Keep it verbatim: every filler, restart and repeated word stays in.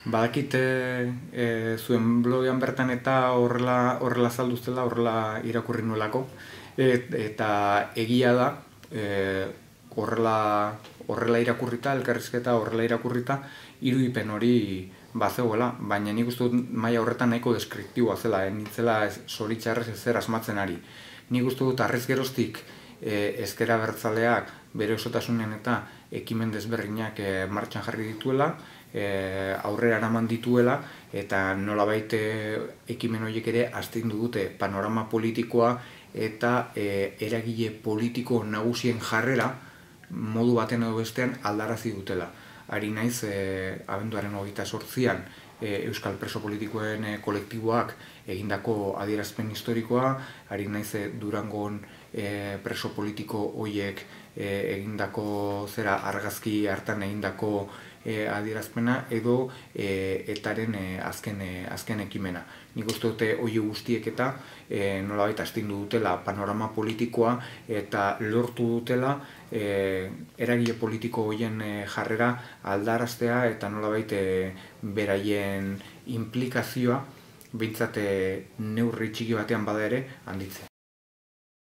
Badakite e, zuen blogean bertan eta horrela horrela zalduztela, horrela irakurri nuelako, et, eta egia da, e, horrela, horrela irakurrita, elkarrizketa horrela irakurrita, irudipen hori bazegoela, baina nik uste dut maila horretan nahiko deskriptiboa zela, eh? Nintzela zoritxarrez ezer asmatzen ari. Nik uste dut arrez geroztik e, ezker abertzaleak bere osotasunen eta ekimen desberdinak e, martxan jarri dituela, e, aurrera eraman dituela, eta nolabait ekimen horiek ere astindu dute panorama politikoa eta e, eragile politiko nagusien jarrera modu baten edo bestean aldarazi dutela. Ari naiz, e, abenduaren hogeita zortzian e, Euskal Preso Politikoen e, kolektiboak egindako adierazpen historikoa, ari naiz e, Durangon e, preso politiko horiek e, egindako zera argazki hartan egindako e, adierazpena edo e, etaren e, azken, e, azken ekimena. Nik uste dute hori guztiek eta e, nolabait astindu dutela panorama politikoa eta lortu dutela e, eragile politiko horien e, jarrera aldaraztea eta nolabait e, beraien implikazioa behintzat neurri txiki batean bada ere handitzea.